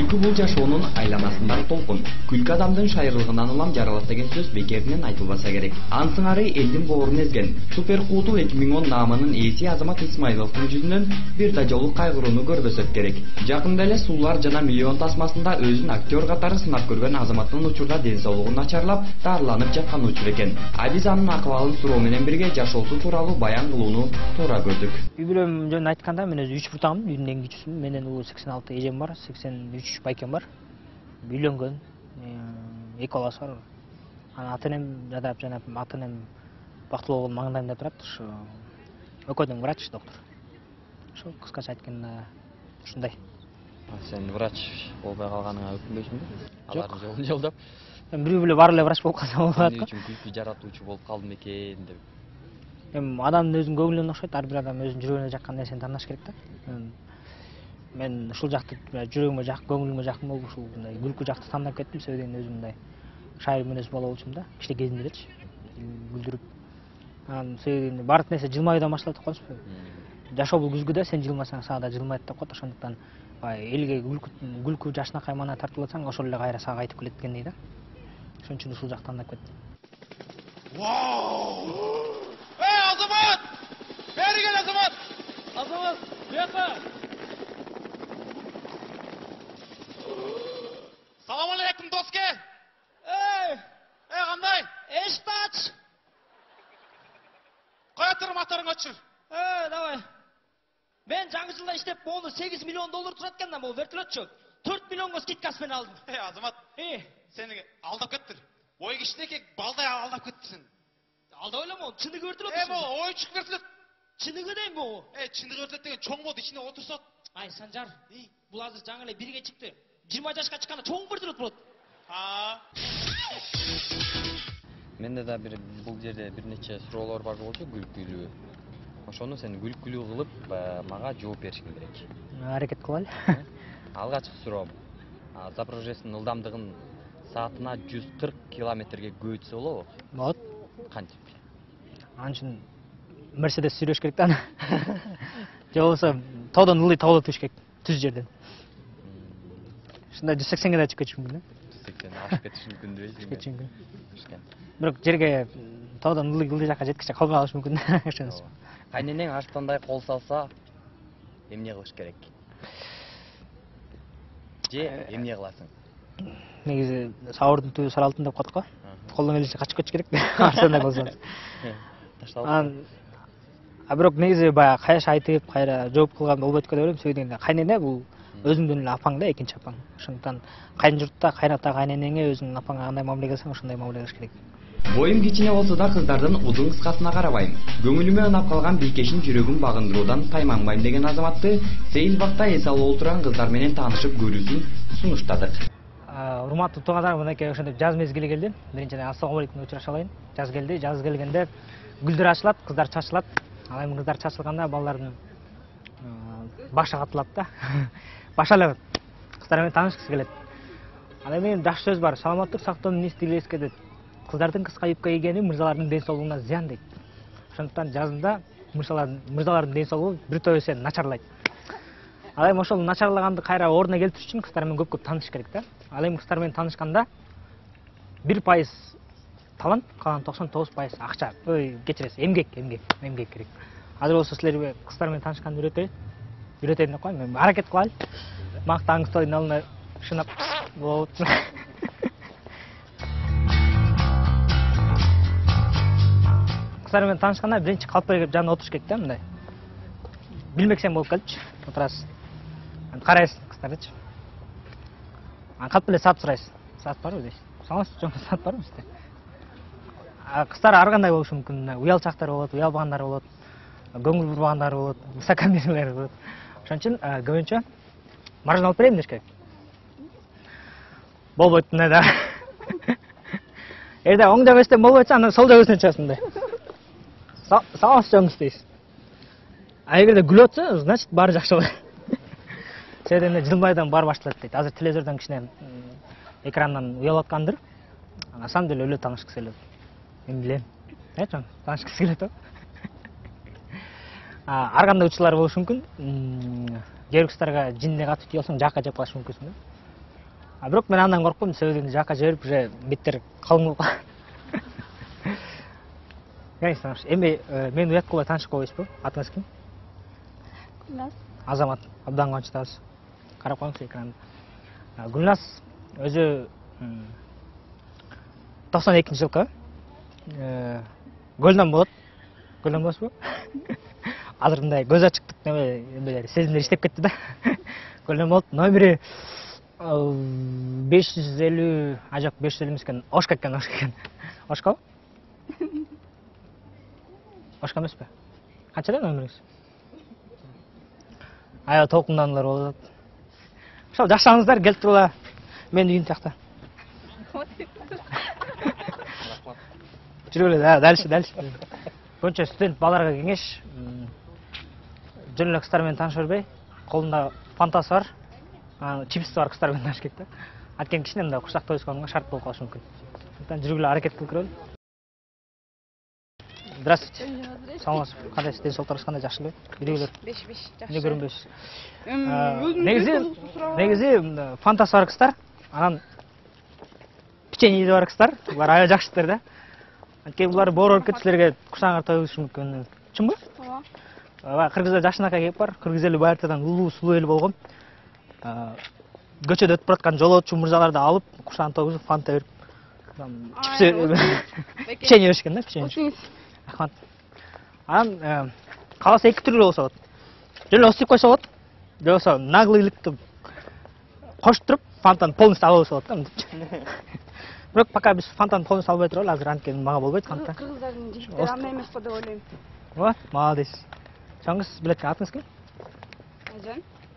Күлкү бул жашоонун айланасындагы толкун. Күлкү адамдын шайырлыгынан улам жаралат деген сөз бекеринен айтылбаса керек. Ансыңары элдин боорун эзген Супер Кутул 2010 наамынын ээси Азамат Исмайловдун жүзүнөн бир да жолу кайгырууну көрбөсөк керек. Жакында эле Суулар жана Миллион тасмасында өзүн актер катары сынап көргөн Азаматтын учурда ден соолугу начарлап, дарыланып жаткан учур экен. Биз анын акыбалын суроо менен бирге жашоосу тууралуу баян кылууну туура көрдүк. Үй бүлөм жөнүндө айтканда мен өзү 3 буртагымын, үйдүн эң кичүүсүмүн. Менен 86 эжем бар, 83 байкем бар. Үйлөнгөн, 2 баласы бар. Ата-энем жадап жана ата-энем бактылуу болгон маңдайымда турат. Ушу экөөдөн врач, доктор. Ошо кыскача айтканда ушундай. Сен врач болбой калганыңа өкүнбөйсүңбү? Алардын жолун жолдоп. Мен бирөө эле бар эле врач болуп калсам болот Эмне үчүн күлкү жаратуучу болуп калдым экен деп. Адамдын өзүнүн көңүлүнө окшойт, ар бир адам өзүнүн жүрөгүнө жаккан нерсени тандаш керек да. Мен ушул жакты жүрөгүмө жак, көңүлүмө жакын болуп ушул мындай күлкү жакты тандап кеттим. Себеби өзүм мындай шайыр мүнөз бала болчумун да, кичине кезинде элечи. Күлдүрүп. Себеби баардык нерсе жылмаюудан башталат деп коебузбу? Жашоо бул күзгүдө, сен жылмасаң сага да жылмайт деп коет. Ошондуктан элге күлкү жашнакай мана тартылып атсаң, ошол эле кайра сага кайтып келет дегендей да. Ошон үчүн ушул жакты тандап кеттим. Азамат! Бери кел, Азамат! Азамат, бияка! Салам алейкум, доске! Кандай? Эшикти ач! Коя тур, моторуңду өчүр. Давай. Мен жаңы жылда иштеп, мону $8 миллион турат экен да, бул вертолетчу. 4 миллионго скидкасы менен алдым. Азамат, сени алдап кеттир. Ой кичинекей балдай алдап кеттирсиң. Алдап элем, чыныгы вертолет. Могу ойчук вертолет. Чыныгы дейм могу. Чыныгы вертолет деген чоң болду, ичине отурсат. Ай, Санжар, бул азыр жаңы эле бирге чыкты. 20 жашка чыкканда чоң вертолет болот. Менде да бул жерде бир нече суроолор бар болчу, күлкүлүү. Ошону сен күлкүлүү кылып мага жооп беришиң керек. Аракет кылалы. Алгачкы суроом. Запорожецтин ылдамдыгын саатына 140 километрге көбөйтсө болобу? Болот. Кантип? Ал үчүн Мерседес сүрөш керек да. Же болбосо тоодон ылдый тоодо түш керек, түз жерден. Ушундай 180 да чыгып кетишим мүмкүн. 180 ашып кетиши мүмкүн дебейсиңби? Бирок жерге тоодон ылдый жакка жеткиче калбай калыш мүмкүн. Ошонусу. Кайненең аштандай кол салса, эмне кылыш керек? Же эмне кыласың? Негизи сабырдын түбү сар алтын деп коет го. Колдон келишинче качып кетиш керек. Арсандай болсоңуз. Бирок негизи баягы кайша айтып, кайра жооп кылган болбойт деп ойлойм. Себеби кайнене бул өзүңдүн эле апаң да, экинчи апаң. Ошондуктан кайын журтта кайната кайненеңе өзүңдүн апаңа кандай мамиле кылсаң, ошондой мамиле кылыш керек. Боюм кичине болсо да кыздардын узун кыскасына карабайм. Көңүлүмө унап калган бийкешин жүрөгүн багындыруудан тайманбайм деген Азаматты сейил бакта эс алып отурган кыздар менен таанышып көрүүсүн сунуштадык. Урматтуу туугандар, мынакей ошондой жаз мезгили келди. Биринчиден ассалам алейкум деп учурашып алайын. Жаз келди. Жаз келгенде гүлдөр ачылат, кыздар чачылат. Ал эми кыздар чачылганда балдардын башы катылат да. Башы эле кыздар менен таанышкысы келет. Ал эми жакшы сөз бар. Саламаттык сактоонун эс тилеске дейт. Кыздардын кыска юбка кийгени мырзалардын ден соолугуна зыян дейт. Ошондуктан жазында мырзалардын ден соолугу бир топ эсе начарлайт. Ал эми ошол начарлаганды кайра ордуна келтириш үчүн кыздар менен көп таанышыш керек да. Ал эми кыздар менен таанышканда 1% талант, калган 99% акча. Кечиресиз, эмгек керек. Азыр болсо силерге кыздар менен таанышканды үйрөтөйүн деп коем. Мен аракет кылайлы. Мактаңыз тойдун алдына шынап болот. Кыздар менен таанышканда биринчи калп берип жанына отуруш керек да, мындай. Билмексең болуп келчи, отурасыз. Карайсыз кыздардычы. Калп эле саат сурайсыз. Саат барбы дейсиз? Саламатсызбы, жок, саат барбы сизде? Кыздар ар кандай болушу мүмкүн. Уялчактар болот, уялбагандар болот. Көңүл бурбагандар болот, высокомерлер болот. Ошон үчүн көбүнчө маржин алып берейин деш керек. Болбойт мындай да. Эгерде оң жабыстан болбойт, анда сол жабыстан чыгасың мындай. Саламатсызбы дейсиз. Эгерде күлүп атса, значит баары жакшы болот. Себеби жылмайдан баары башталат дейт. Азыр телевизордон кичине экрандан уялып аткандыр. На самом деле өлө таанышкысы келет. Мен билем. Чоң, таанышкысы келет о. Ар кандай учурлар болушу мүмкүн. Кээ бир кыздарга жиндей катып тийип алсаң, жакка жеп калышы мүмкүнсүң да. А бирок мен андан коркпойм, себеби жакка жиберип уже беттер калың болуп калат. Эми мен уят кылбай таанышып коебузбу? Атыңыз ким? Гүлназ. Азамат. Абдан кубанычтабыз. Карап коюңуз экранды. Гүлназ өзү 92-жылкы Көлдөн болот. Көлдөн болосузбу? Азыр мындай көз ачыктык немелер сезимдер иштеп кетти да. Көлдөн болот. Номери 550, жок 550 эмес экен, Ошко экен, Ошко? Ошко эмеспи? Канчада номериңиз? Аябай толкундандылар болуп атат. Ошол жакшаңыздар, келип турула. Мен үйүм тиякта. Жүргүлө, дальше. Көбүнчө студент балдарга кеңеш. Жөн эле кыздар менен тааныша бербей, колунда фантасы бар, чипси бар кыздар менен тааныш керек да. Анткени кичине мындай курсак тоюсканга шарт болуп калышы мүмкүн. Сондуктан жүргүлө, аракет кылып көрөлү. Здравствуйте. Саламатсыз. Кандайсыз? Денсаулыктарыңыз кандай, жакшыбы? Үйдөгүлөр? 5 жакшы. Эмне көрүнбөйсүз? Негизи фантасы бар кыздар, анан печеньеси бар кыздар, булар аябай жакшыдыр да. Анткени булар боорор кетип силерге курсагыңар тоюлушу мүмкүн. Чынбы? Ооба. Кыргызда жашынакай кеп бар. Кыргыз эли байыртадан улуу сулуу эл болгон. Көчөдө өтүп бараткан жолоочу мырзаларды алып, курсагын тогузуп, фанта берип, чипси, печенье беришкен да, печенье. Рахмат. Анан кааласа эки түрлүү болсо болот. Жөн эле уступ койсо болот. Же болбосо наглыйлыкты коштуруп, фантаны полностью алып алса болот да, мынтип. Бирок пока биз фантаны полностью албай туралы, азыр анткени мага болбойт фанта. Кыргыздардын жигиттери андай эмес го деп ойлойм. Ооба, молодец. Чоңуз билет экен, атыңыз ким?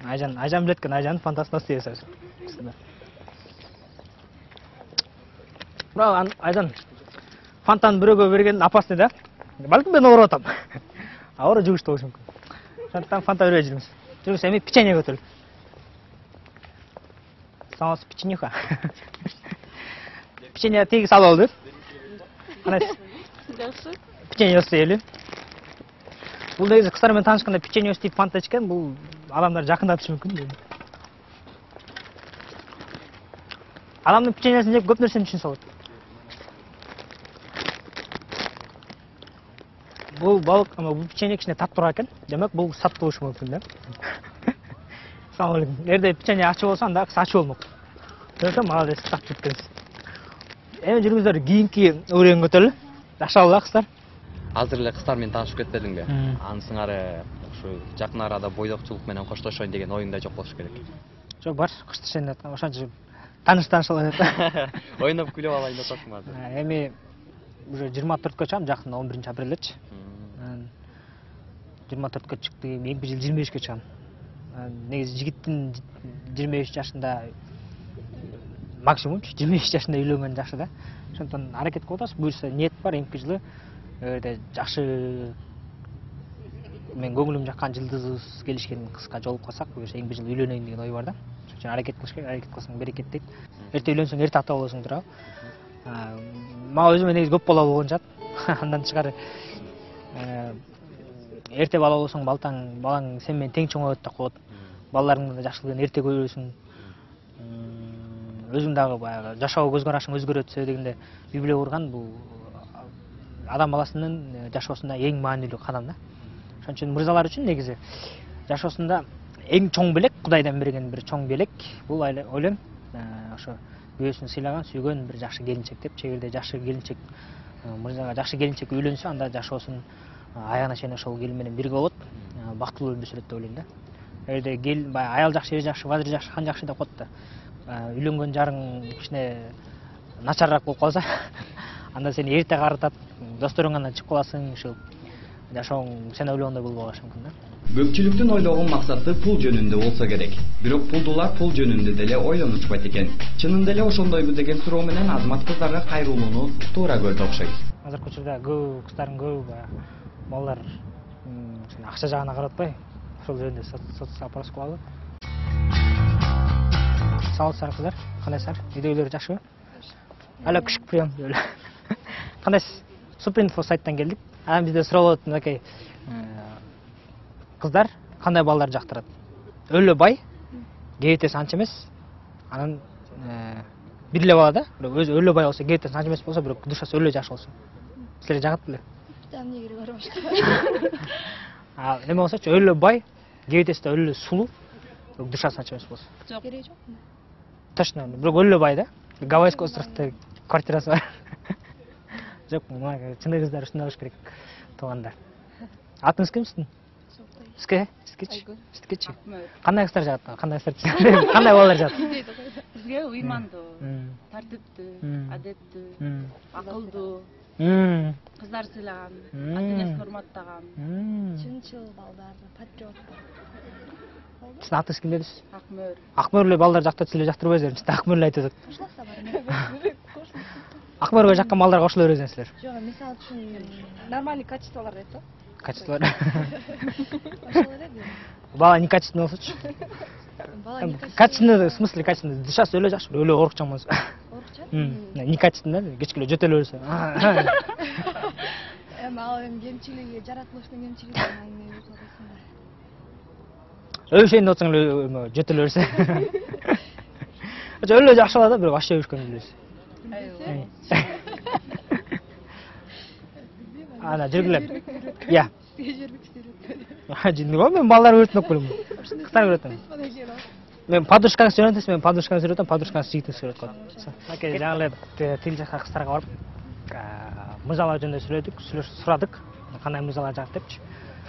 Айжан. Айжан билет экен, Айжандын фантасын уступ берсеңиз. Бирок Айжан фантаны бирөөгө берген опасный да. Балким мен ооруп атам. Ооруп жугуш болушу мүмкүн. Ошондуктан фанта бербей жүрүңүз. Жүрүңүз, эми печенье көтөрүл. Саламатсыз, печеньеха. Печенье тегиз алып алды. Кандайсыз? Жакшы. Печенье уступ. Бул негизи кыздар менен таанышканда печенье уступ фанта ичкен, бул адамдар жакындатышы мүмкүн. Адамдын печеньесин жеп көп нерсени түшүнсө болот. Бул балык, бул печенье кичине таптуураак экен. Демек, бул сат болушу мүмкүн да. Салам алейкум. Эгерде печенье ачуу болсо, анда кыз ачуу болмок. Көрсөм, молодец, так жеткенсиз. Эми жүрүңүздөр, кийинки өрөөнгө өтөлү. Жакшы кыздар. Азыр эле кыздар менен таанышып кетпедиңби? Анысыңар ушу жакын арада бойдокчулук менен коштошоюн деген оюңда жок болуш керек. Жок, бар, коштошоюн деп аткан, ошончо тааныш-алайын деп. Ойноп күлүп алайын деп атасың азыр. Эми уже 24кө чыгам, жакында 11 апрелдечи. 24кө чыкты, эми бир жыл 25кө чыгам. Негизи жигиттин 23 жашында максимум 25 жашында үйлөнгөн жакшы да. Ошондон аракет кылып атабыз. Буюрса ниет бар, эмки жылы эгерде жакшы мен көңүлүм жаккан жылдызыбыз келишкен кызга жолугуп калсак, буюрса эмки жылы үйлөнөйүн деген ой бар да. Ошон үчүн аракет кылыш керек, аракет кылсаң берекет дейт. Эрте үйлөнсөң эрте ата болосуң туурабы. Мага өзүмө негизи көп бала болгон жат. Андан тышкары эрте бала болсоң балаң сен менен тең чоңойот деп коет. Балдарыңдын да жакшылыгын эрте көрөсүң. Өзүң дагы баягы жашоого көз карашың өзгөрөт, себеби дегенде үй бүлө курган бул адам баласынын жашоосунда эң маанилүү кадам да. Ошон үчүн мырзалар үчүн негизи жашоосунда эң чоң белек, Кудайдан берген бир чоң белек, бул ойлойм ошо күйөөсүн сыйлаган, сүйгөн бир жакшы келинчек деп, чегерде жакшы келинчек мырзага жакшы келинчек үйлөнсө, анда жашоосун аягына чейин ошол келин менен бирге болот, бактылуу өмүр сүрөт деп ойлойм да. Эгерде аял жакшы, эр жакшы, бадыр жакшы, хан жакшы деп коет да. Үйлөнгөн жарың кичине начарраак болуп калса, анда сени эрте карытат, досторуңан чыгып каласың, ушул жашооң сен ойлогондой болбой калышы мүмкүн да. Көпчүлүктүн ойлогон максаты пул жөнүндө болсо керек. Бирок пулдулар пул жөнүндө деле ойлонушпайт экен. Чынында эле ошондойбу деген суроо менен Азамат кыздарга кайрылууну туура көрдү окшойт. Азыркы учурда көп кыздардын көбү балдар акча жагына карап атпай, ошол жөнүндө опрос кылалы. Саламатсыздар кыздар, кандайсыздар? Үйдөгүлөр жакшыбы? Ала күчүк прием деп эле. Кандайсыз? Супринфо сайттан келдик. Анан бизде суроо болот, мынакей кыздар кандай балдар жактырат? Өлө бай, кебетеси анча эмес. Анан бир эле бала да, бирок өзү өлө бай болсо, кээптен санчы эмес болсо, бирок душасы өлө жакшы болсо. Силерге жагат беле? Эмне кереги бар башка? Эме болсочу, өлө бай, кээптеси да өлө сулуу, бирок душасы санчы эмес болсо. Жок. Кереги жок. Точно, бирок өлө бай да. Гавайский островдо квартирасы бар. Жок, мага чындык кыздар ушундай болуш керек. Туугандар. Атыңыз ким сиздин? Сизге? Сизгечи? Сизгечи? Кандай кыздар жагат? Кандай кыздар? Кандай балалар жагат? Бизге уймандуу, тартиптүү, адеттүү, акылдуу, кыздар сыйлаган, ата-энесин урматтаган, Чынчыл балдар, патриот. Сиздин атыңыз ким дедиз? Акмөр. Акмөр эле балдар жактырып силер жактырбайсыздар. Сиз Акмөр эле айтып атат. Кошуласа бар. Акмөргө жаккан балдарга кошула бересиңер. Жок, мисалы үчүн нормальный качестволор дейт го. Качестволор. Ошолор эле. Бала не качественный болсочу? Бала не Качественный, в смысле качественный? Душасы өлө жакшы, өлө орукчан болсо. Орукчан? Некачественный, кечке эле жөтө эле берсе. Эми ал кемчилиги, жаратылыштын кемчилиги эме өз арасында. Өлүшейин деп атсаң эле жөтө эле берсе. Өлө жакшы бала да, бирок аш жеп жүргөн эле. Ана жүргүлөр. Я. Жинди го мен балдар өрөтүп келем. Кыздар өрөтөм. Мен подружкаңыз үйрөтөсүз, мен подружкаңыз үйрөтөм, подружкаңыз жигитиңиз үйрөтөт коет. Аке, жаңы эле тил жакка кыздарга барып, мыжалар жөнүндө сүйлөдүк, сурадык, кандай мыжалар жагат депчи.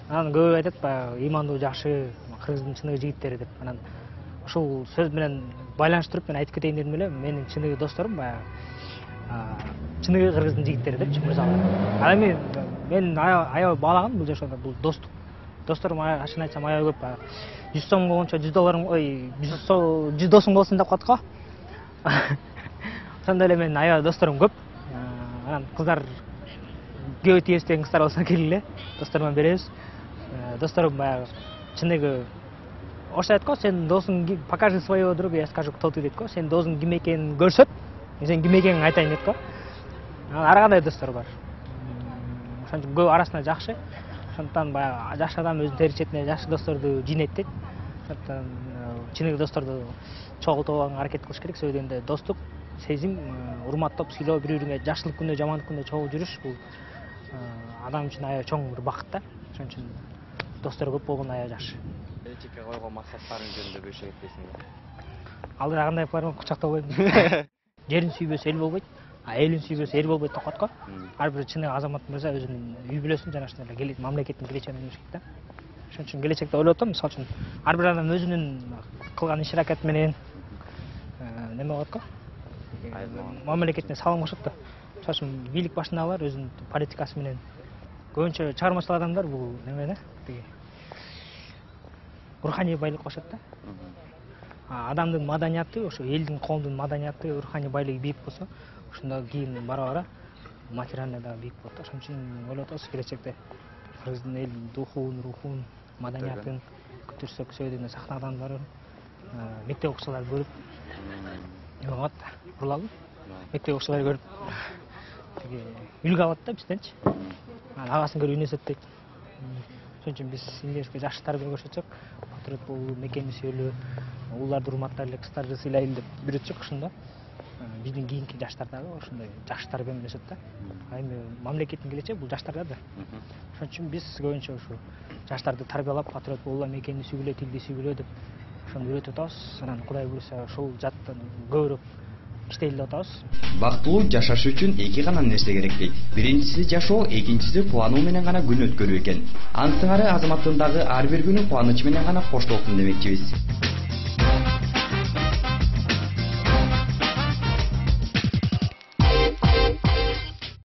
Анан көбү айтат, баягы ыймандуу жакшы, кыргыздын чыныгы жигиттери деп. Анан ушул сөз менен байланыштырып мен айтып кетейин дедим эле, менин чыныгы досторум баягы чыныгы кыргыздын жигиттери депчи, мыжалар. Ал эми мен аябай баалаган бул жашоодо, бул достук. Досторум ашын айтсам аябай көп, 100 сом болгончо 100 долларым, 100 досуң болсун деп коет го. Ошондой эле менин аябай досторум көп. Анан кыздар көө тийбиз деген кыздар болсо келгиле, досторума беребиз. Досторум баягы чыныгы ошо айтат го, сен досуң покажи своего друга, я скажу, кто ты дейт го. Сен досуң ким экенин көрсөт, мен сенин ким экениңди айтайын дейт го. Ар кандай достор бар. Ошон үчүн көп арасында жакшы. Ошондуктан баягы жакшы адам өзүнүн теричетине жакшы досторду жыйнайт дейт. Ошондуктан чыныгы досторду чогултуп алганга аракет кылыш керек. Сөзү дегенде достук, сезим, урматтап, сыйлоо, бири-бириңе жакшылык күндө, жамандык күндө чогуу жүрүш бул адам үчүн аябай чоң бир бакыт да. Ошон үчүн достор көп болгон аябай жакшы. Келечекке койгон максаттарың жөнүндө бөлүшө кетесиңби? Алдыра кандай бармак кучактап коет. Жерин сүйбөсө эл болбойт, элин сүйбөсө эл болбойт деп коет го. Ар бир чыныгы азамат мырза өзүнүн үй бүлөсүн жана ошондой эле мамлекеттин келечегин ойлош керек да. Ошон үчүн келечекте ойлоп атам, мисалы үчүн ар бир адам өзүнүн кылган иш-аракети менен неме болот го? Мамлекетине салым кошот да. Мисалы үчүн бийлик башындагылар өзүнүн политикасы менен көбүнчө чыгармачыл адамдар бул неме да, тиги руханий байлык кошот да. Адамдын маданияты, ошо элдин, коомдун маданияты, руханий байлыгы бийик болсо, ошондо кийин бара-бара материальный да бийик болот. Ошон үчүн ойлоп атабыз келечекте кыргыздын эл рухун, маданиятын көтөрсөк, сөйдүнө сактаган бар. Мектеп окуучулар көрүп эме кылат да, курулабы? Мектеп окуучулар көрүп тиги үлгү алат да бизденчи. Агасын көрүп үйнөсөт дейт. Ошон үчүн биз эмнебизге жакшы тарбия көрсөтсөк, патриот болуу, мекени сүйөлүү, ууларды урматтайлы, кыздарды сыйлайлы деп үйрөтсөк, ошондо биздин кийинки жаштар дагы ошондой жакшы тарбия менен өсөт да. Эми мамлекеттин келечеги бул жаштарда да. Ошон үчүн биз көбүнчө ушу жаштарды тарбиялап, патриот болуулар, мекенди сүйгүлө, тилди сүйгүлө деп ошону үйрөтүп атабыз. Анан Кудай буйруса ошол жаттан көбүрөөк иштейли деп атабыз. Бактылуу жашаш үчүн эки гана нерсе керек дейт. Биринчиси жашоо, экинчиси кубануу менен гана күн өткөрүү экен. Анын сыңары азаматтыгындагы ар бир күнү кубаныч менен гана коштолсун демекчибиз.